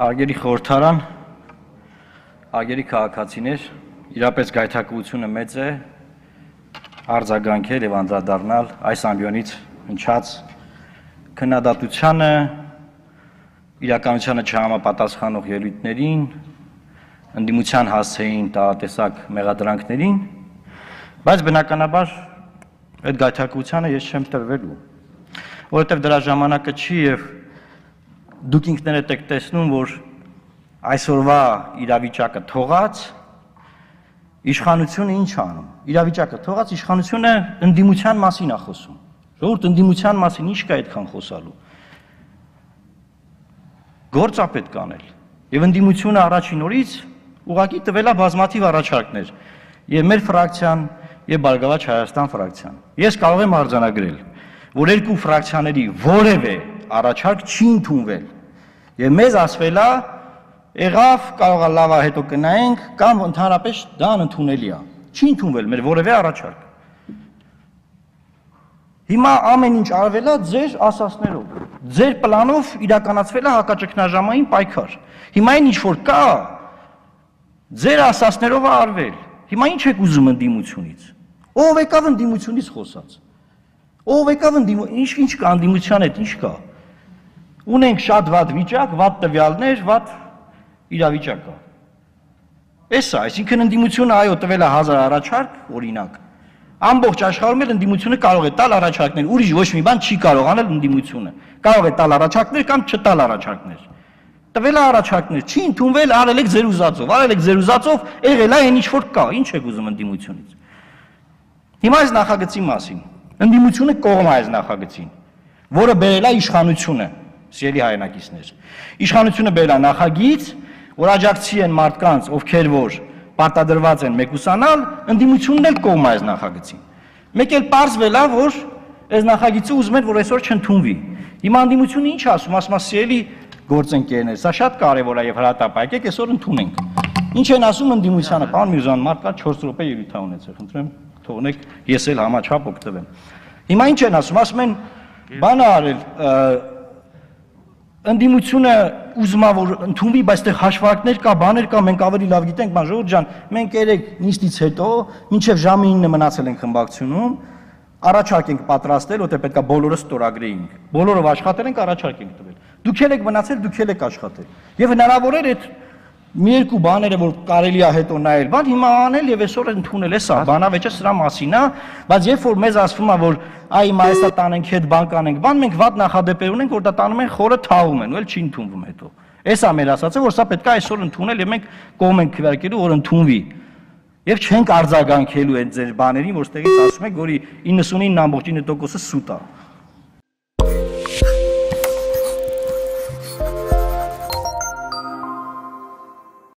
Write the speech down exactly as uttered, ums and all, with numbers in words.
Արգերի խորհրդարան, արգերի քաղաքացիներ, իրապես գայթակղությունը մեծ է արձագանքել եւ անդրադառնալ այս ամբիոնից հնչած քննադատությանը, իրականությանը չհամապատասխանող ելույթներին, ընդդիմության հասցեին տարատեսակ մեղադրանքներին, բայց բնականաբար այդ գայթակղությանը ես չեմ տրվելու, որովհետեւ դրա ժամանակը չի եւ դուք ինքներդ եք տեսնում, որ այսօրվա իրավիճակը թողած իշխանությունը ինչ անում։ Իրավիճակը թողած իշխանությունը ընդդիմության մասին է խոսում։ Ժողովուրդ ընդդիմության մասին ինչ կա այդքան խոսալու։ Գործ է պետք անել։ Եվ ընդդիմությունը առաջին օրից ուղղակի տվել է բազմաթիվ առաջարկներ։ Եվ մեր ֆրակցիան, եւ Բարգավաճ Հայաստան ֆրակցիան։ Ես կարող եմ արձանագրել, որ երկու ֆրակցիաների որևէ առաջարկ չի ընդունվել։ Եվ մեզ ասվել է, եղավ, կարող է լավ է հետո կնայենք, կամ ընդհանրապես դա անընդունելի է։ Չի ընդունվել մեր որևէ առաջարկ։ Հիմա ամեն ինչ արվել է ձեր ասածներով։ Ձեր պլանով իրականացվել է հակաճգնաժամային պայքար։ Հիմա այն ինչ որ կա, ձեր ասածներով է արվել։ Հիմա ինչ եք ուզում ընդդիմությունից։ Ով եկավ ընդդիմությունից խոսած։ Ով եկավ ընդդիմություն, ինչ ինչ կա ընդդիմության հետ, ինչ կա։ Ունենք շատ վատ վիճակ, վատ տվյալներ, վատ իրավիճակ կա։ Էս է, այսինքն ընդդիմությունը այո տվել է հազար առաջարկ, օրինակ։ Ամբողջ աշխարհում էլ ընդդիմությունը կարող է տալ առաջարկներ, ուրիշ ոչ մի բան չի կարող անել ընդդիմությունը։ Կարող է տալ առաջարկներ կամ չտալ առաջարկներ։ Տվել է առաջարկներ, չի ընդունվել, արել եք ձեր ուզածով, արել եք ձեր ուզածով, եղել է այն ինչ որ կա, ինչ եք ուզում ընդդիմությունից։ Հիմա այս նախագծի մասին։ Ընդդիմությունը կողմ է այս նախագծին, որը բերել է իշխանությունը, սիրելի հայրենակիցներ։ Իշխանությունը բերել է նախագիծ, որ աջակցի են մարդկանց, ովքեր որ պարտադրված են մեկուսանալ, ընդդիմությունն էլ կողմ է այս նախագծին։ Մեկ էլ պարզվել է, որ այս նախագիծը ուզում են, որ այսօր չընդունվի։ Հիմա ընդդիմությունը ինչ ասում, ասում է սիրելի գործընկերներ, սա շատ կարևոր է եւ հրատապ, եկեք այսօր ընդունենք։ Ինչ են ասում ընդդիմությանը, պարոն Միրզոյան, մարդկա չորս րոպե ելույթ ա ունեցել, խնդրեմ, թողնեք, ես էլ համաչափ օգտվեմ։ Հիմա ինչ են ասում, ասում են, բան արել, ընդդիմությունը ուզում է որ ընդունվի, բայց այդտեղ հաշվարկներ կա, բաներ կա, մենք ավելի լավ գիտենք, բան ժողովուրդ ջան, մենք երեք նիստից հետո, մինչև ժամը ինը մնացել ենք խմբակցությունում, առաջարկ ենք պատրաստել, որտեղ պետք է բոլորը ստորագրեինք։ Բոլորով աշխատել ենք, առաջարկ ենք տվել։ Դուք եք մնացել, դուք եք աշխատել։ Եվ հնարավոր էր այդ մի երկու բաները, որ կարելի է հետո նայել, բան հիմա անել եւ այսօր ընդունել է սա, բանավեճը սրա մասին է, բայց երբ որ մեզ ասվում է, որ այ հիմա այսա տանենք հետ բան կանենք, բան մենք վատ նախադեպեր ունենք, որ դա տանում են խորը թաղում են, ու էլ չի ընդունվում հետո։ Էս է մեր ասածը, որ սա պետք է այսօր ընդունել եւ մենք կողմ ենք քվեարկելու, որ ընդունվի։ Եվ չենք արձագանքելու այդ ձեր բաներին, որ ստեղից ասում եք, որ իննսունինը տոկոսը սուտ է։